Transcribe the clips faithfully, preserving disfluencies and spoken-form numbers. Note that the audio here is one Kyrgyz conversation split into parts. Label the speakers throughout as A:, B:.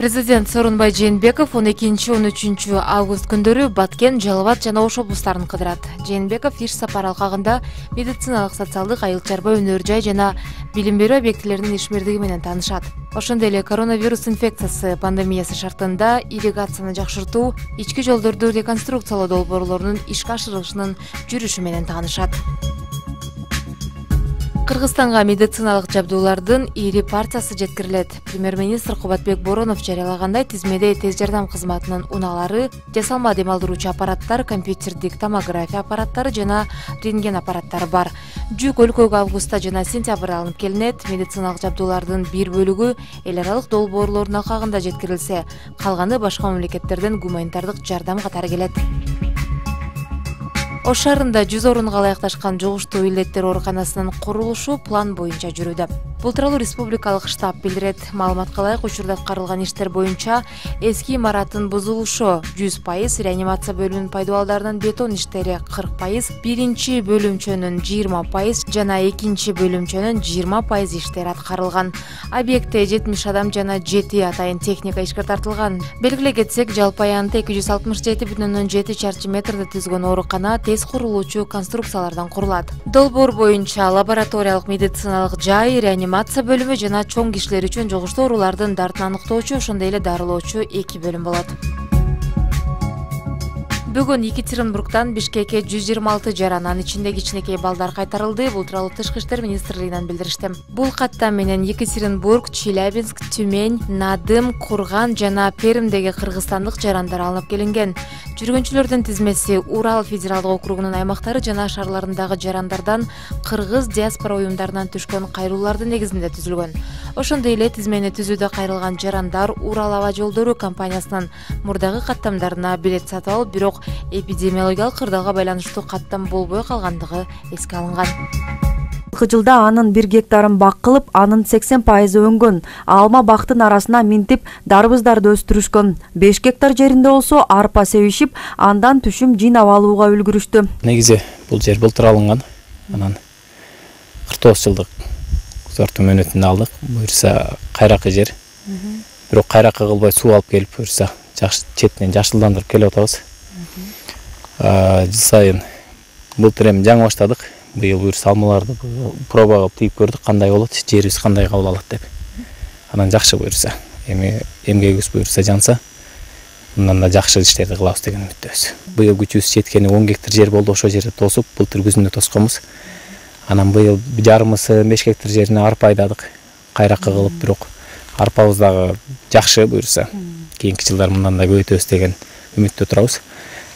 A: Президент Сооронбай Жээнбеков он экинчи — он үчүнчү август күндөрү Баткен, Жалал абад жана Ош облустарын кыдырат. Жээнбеков иш сапар алкагында медициналык, социалдык, айыл чарба, өнөр жай жана билим берүү объектилеринин ишмердиги менен таанышат. Ошондой эле коронавирус инфекциясы пандемиясы шартында ирригацияны жакшыртуу, ички жолдорду реконструкциялоо долбоорлорунун ишке ашырылышынын жүрүшү менен таанышат. Кыргызстанга медициналык жабдуулардын ири партиясы жеткирилет. Премьер-министр Кубатбек Боронов жарыялагандай, тизмеде тез жардам кызматынын унаалары, жасалма дем алдыруучу аппараттар, компьютердик томография аппараттары жана рентген аппараттары бар. Жүк өлкөгө августта жана сентябрда алынып келинет. Медициналык жабдуулардын бир бөлүгү эл аралык долбоорлордун алкагында жеткирилсе, калганы башка мамлекеттерден гуманитардык жардам катары келет. Ош шаарында жүз орунга ылайыкташкан жугуштуу илдеттер ооруканасынын курулушу план боюнча жүрүүдө. Бул тууралуу республикалык штаб билдирет. Маалыматка ылайык, учурда аткарылган иштер боюнча эски имараттын бузулушу жүз пайыз, реанимация бөлүмүнүн пайдубалдарынын бетон иштери кырк пайыз, биринчи бөлүмчөнүн жыйырма пайыз жана экинчи бөлүмчөнүн жыйырма пайыз иштери аткарылган. Объектте жетимиш адам жана жети атайын техника ишке тартылган. Белгилей кетсек, жалпы аянты эки жүз алтымыш жети бүтүн ондон жети чарчы метрди түзгөн оорукана тез курулуучу конструкциялардан курулат. Долбоор боюнча лабораториялык медициналык жай, реанимация бөлүмү жана чоң кишилер үчүн жугуштуу оорулардын дартын аныктоочу, ошондой эле дарылоочу эки бөлүм болот. Бүгүн Екатеринбургдан Бишкекке жүз жыйырма алты жаран, анын ичинде кичинекей балдар кайтарылды. Бул тууралуу Тышкы иштер министрлигинен билдиришти. Бул каттам менен Екатеринбург, Челябинск, Тюмень, Надым, Курган жана Пермдеги кыргызстандык жарандар алынып келинген. Жүргөнчүлөрдүн тизмеси Урал федералдык округунун аймактары жана шаарларындагы жарандардан, кыргыз диаспора уюмдарынан түшкөн кайрылуулардын негизинде түзүлгөн. Ошондой эле тизмени түзүүдө кайрылган жарандар Урал аба жолдору компаниясынын мурдагы каттамдарына билет сатып алып, бирок эпидемиологиялык кырдаалга байланыштуу каттам болбой калгандыгы эске алынган.
B: Жылда анын бир гектарын бак кылып, анын сексен пайызы өнгөн. Алма бактын арасына минтип дарбыздарды өстүрүшкөн. беш гектар жеринде болсо арпа себишип, андан түшүм жыйнап алууга үлгүрүштү.
C: Негизи бул жер былтыр алынган. Анан кырк тогуз жылдык сорту мөөнөтүндө алдык. Буюрса кайракы жер. Бирок кайракы кылбай суу алып келип, буюрса жакшы четинен жашылдандырып келип атабыз. Жыл сайын былтыр эми жаңы баштадык. Быйыл буюрса алмаларды проба кылып тийип көрдүк, кандай болот, жерибиз кандай кабыл алат деп. Анан жакшы буюрса, эми эмгегибиз буюрса жанса, мындан да жакшы иштерди кылабыз деген үмүттөбүз. Быйыл күчүбүз жеткени он гектар жер болду, ошол жерде тосуп, былтыр күзүндө тосконбуз. Анан быйыл жарымысы беш гектар жерине арпа айдадык, кайракы кылып, бирок арпабыз дагы жакшы буюрса, кийинки жылдар мындан да көбөйтөбүз деген үмүттө турабыз.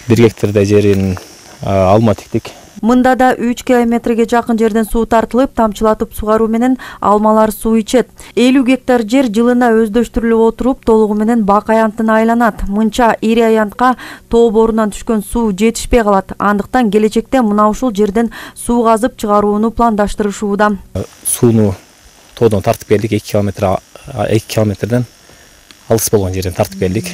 C: бир гектардай жерин алма тиктик.
B: Мында да үч километрге жакын жерден суу тартылып, тамчылатып сугаруу менен алмалар суу ичет. элүү гектар жер жылына өздөштүрүлүп отуруп, толугу менен бак аянтына айланат. Мынча ири аянтка тоо боорунан түшкөн суу жетишпей калат. Андыктан келечекте мына ушул жерден суу казып чыгарууну пландаштырышууда.
C: Сууну тоодон тартып келдик, эки километр эки километрден алыс болгон жерден тартып келдик.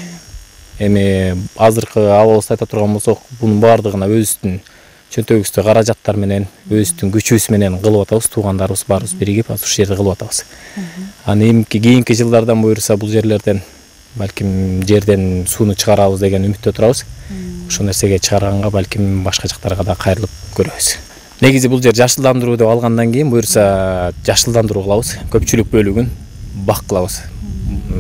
C: Эми азыркы абалыбызды айта турган болсок, бунун баардыгына өзүбүздүн чөнтөгүбүздө каражаттар менен, өзүбүздүн күчүбүз менен кылып атабыз, туугандарыбыз баарыбыз биригип ушул жерде кылып атабыз. Аны эмки кийинки жылдардан буюрса бул жерлерден балким жерден сууну чыгарабыз деген үмүттө турабыз. Ошол нерсеге чыгарганга балким башка жактарга да кайрылып көрөбүз. Негизи бул жер жашылдандыруу деп алгандан кийин буюрса жашылдандыруу кылабыз, көпчүлүк бөлүгүн бак кылабыз.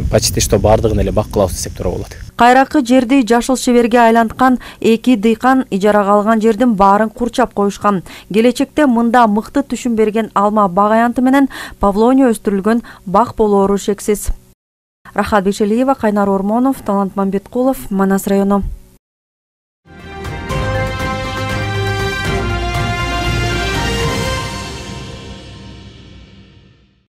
C: Почти что баардыгын эле бак кылабыз десек туура болот.
B: Кайракы жерди жашыл чеберге айланткан эки дыйкан ижарага алган жердин баарын курчап коюшкан. Келечекте мында мыкты түшүм берген алма бак аянты менен павлония өстүрүлгөн бак болоору шексиз. Рахат Бекшелиева, Кайнар Ормонов, Талант Мамбеткулов, Манас району.